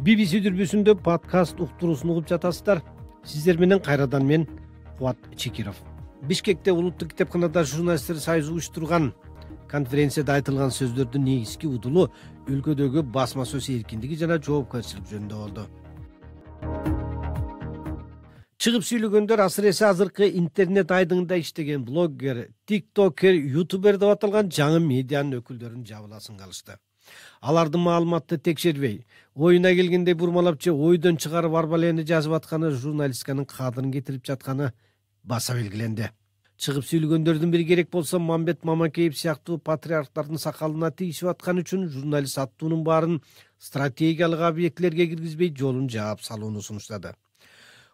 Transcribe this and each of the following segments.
BBC дүрбүсүндө подкаст уктуруусун угуп жатасыздар. Сиздер менен кайрадан мен Кубат Чекиров. Бишкекте улуттук китепканада журналисттер союзу уюштурган конференцияда айтылган сөздөрдүн негизги удулу өлкөдөгү басма сөз эркиндиги жана жоопкерчилик жөнүндө болду. Чыгып сүйлөгөндөр асыресе азыркы интернет айдыңында иштеген блогер, тиктокер, ютубер деп аталган жаңы медианын өкүлдөрүн жабыласын калышты. Алардын маалыматты текшербей, оюна келгенде бурмалап же ойдон чыгарып арбалени жазып атканы журналистиканын кадырын кетирип жатканы баса белгиленди. Чыгып сүйлөгөндөрдүн бири керек болсо Мамбет Мамакеев сыяктуу патриархтардын сакалына тийишип аткан үчүн журналист аттуунун баарын стратегиялык объектилерге киргизбей жолун жаап салууну сунуштады.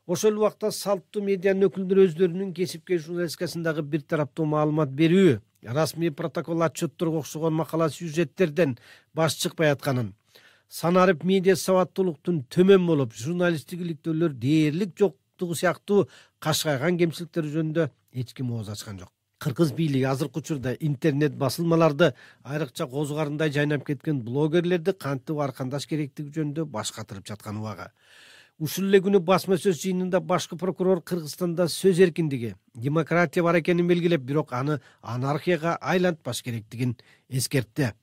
Ошол убакта салттуу медианын өкүлдөрү өздөрүнүн кесипкөй журналистикасындагы бир тараптуу маалымат берүү, расмий протокол отчетторго окшогон макала сюжеттерден баш чыкпай атканын, санарып медиа сабаттуулуктун төмөн болуп, журналисттик иликтөөлөр дээрлик жоктугу сыяктуу кашкайган кемчиликтер жөнүндө эч ким ооз ачкан жок. Кыргыз бийлиги азыркы учурда интернет басылмаларды айрыкча козугарындай жайнап кеткен блогерлерди кантип аркандаш керектиги жөнүндө баш катырып жаткан убагы. Ушул эле күнү басма сөз жыйынында башкы прокурор Кыргызстанда сөз эркиндиги, демократия бар экенин белгилеп, бирок аны анархияга айлантпаш керектигин эскертти.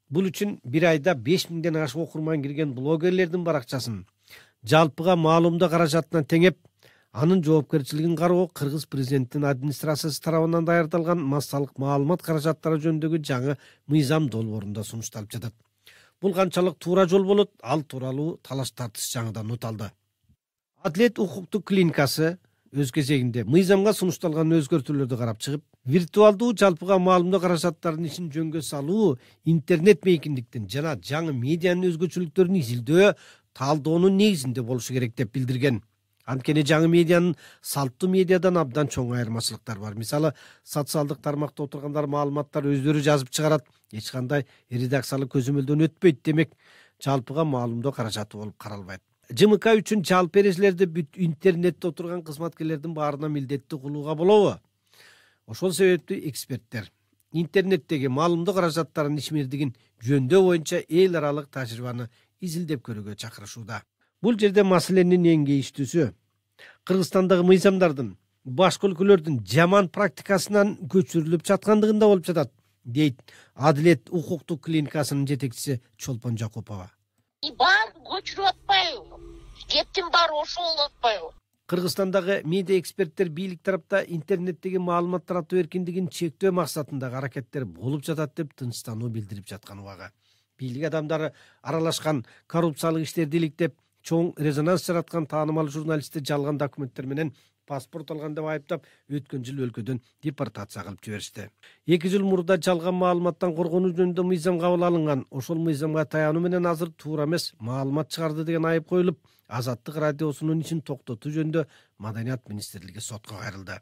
Бул үчүн бир айда 5000ден ашык окурман кирген блогерлердин баракчасын жалпыга маалымдоо каражатына теңеп, анын жоопкерчилигин кароо Кыргыз президентинин администрациясы тарабынан даярдалган массалык маалымат каражаттары жөнүндөгү жаңы мыйзам долбоорунда сунушталып жатат. Бул канчалык туура жол болот, ал тууралуу талаш тартыш жаңыдан нут алды. Адилет укуктук клиникасы өз кезегинде мыйзамга сунушталган өзгөртүүлөрдү карап чыгып, виртуалдуу жалпыга маалымдоо каражаттарынын ишин жөнгө салуу, интернет мейкиндиктин жана жаңы медианын өзгөчөлүктөрүн изилдөө, талдоонун негизинде болушу керек деп билдирген. Анткени жаңы медианын салттуу медиадан абдан чоң айырмачылыктар бар. Мисалы, социалдык тармакта отургандар маалыматтар өздөрү жазып чыгарат, эч кандай редакциялык көзөмөлдөн өтпөйт, демек жалпыга маалымдоо каражаты болуп каралбайт. ЖМК үчүн жалпы эрежелерди бүт интернетте отурган кызматкерлердин баарына милдеттүү кылууга болобу? Ошол себептүү эксперттер интернеттеги маалымдоо каражаттарынын ишмердигин жөндөө боюнча эл аралык тажрыйбаны изилдеп көрүүгө чакырышууда. Бул жерде маселенин эң кейиштүүсү Кыргызстандагы мыйзамдардын башка өлкөлөрдүн жаман практикасынан көчүрүлүп жаткандыгында болуп жатат, дейт Адилет укуктук клиникасынын жетекчиси Чолпон Жакупова. Баары көчүрүп атпайбы? Кептин баары ошол болуп атпайбы? Кыргызстандагы медиа эксперттер бийлик тарапта интернеттеги маалымат таратуу эркиндигин чектөө максатындагы аракеттер болуп жатат деп тынчтануу билдирип жаткан убагы. Бийлик адамдары аралашкан коррупциялык иштерди иликтеп, чоң резонанс жараткан таанымал журналистти жалган документтер менен паспорт алган деп айыптап, өткөн жыл өлкөдөн депортация кылып жиберишти. 2 жыл мурда жалган маалыматтан коргонуу жөнүндө мыйзам кабыл алынган. Ошол мыйзамга таянуу менен азыр туура эмес маалымат чыгарды деген айып коюлуп, Азаттык радиосунун ишин токтотуу жөнүндө Маданият министрлиги сотко кайрылды.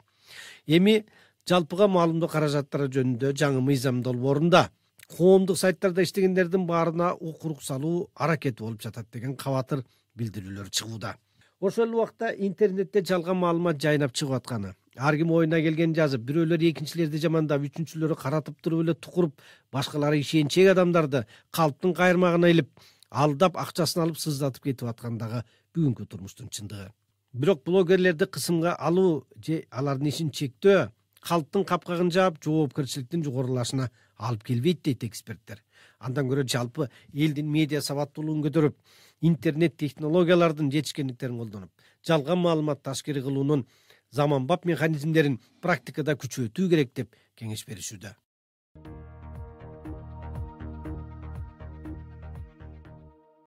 Эми жалпыга маалымдоо каражаттары жөнүндө жаңы мыйзам долбоорунда коомдук сайттарда иштегендердин баарына укук салуу аракети болуп жатат деген кабатыр билдирүүлөр чыгууда. Ошол убакта интернетте жалган маалымат жайнап чыгып атканы, ар ким оюна келген жазып, бирөөлөр экинчилерди жамандап, үчүнчүлөрү каратып туруп эле тукуруп, башкалары ишенчек адамдарды калптын кайырмагына илип, алдап акчасын алып сыздатып кетип аткандагы бүгүнкү турмуштун чындыгы. Бирок блогерлерди кысымга алуу же алардын ишин чектөө калптын капкагын жаап, жоопкерчиликтин жогорулашына алып келбейт, дейт эксперттер. Андан көрө жалпы элдин медиа сабаттуулугун көтөрүп, интернет технологиялардын жетишкендиктерин колдонуп, жалган маалымат ташкери кылуунун заманбап механизмдерин практикада күчөтүү керек деп кеңеш беришүүдө.